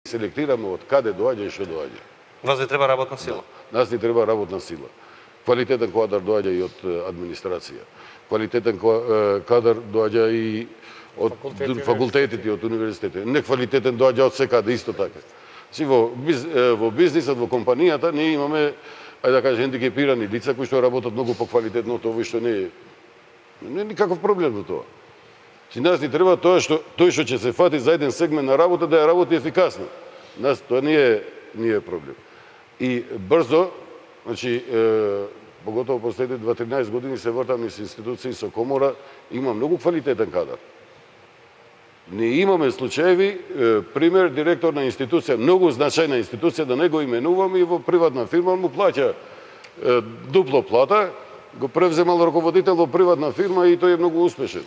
селектираме од каде доаѓа и што доаѓа. Вас ви треба работна сила. Да. Нас ни треба работна сила. Квалитетен кадар доаѓа и од администрација. Квалитетен кадар доаѓа и од факултетите, од универзитетите. Неквалитетен доаѓа од секаде исто така. Во бизнисот, во компанијата, ние имаме, ајде да кажем, хендикепирани лица кои што работат многу поквалитетно од овој што не е никаков проблем во тоа. Нас ни треба тој што ќе се фати за еден сегмент на работа да ја работи ефикасно. Нас тоа не е проблем. И брзо, значи, поготово последните 2-13 години се вртам низ институции со комора, има многу квалитетен кадар. Не имаме случаеви, пример, директор на институција, многу значајна институција, да не го именувам, и во приватна фирма му плаќа дупло плата, го превземал раководител во приватна фирма и тој е многу успешен.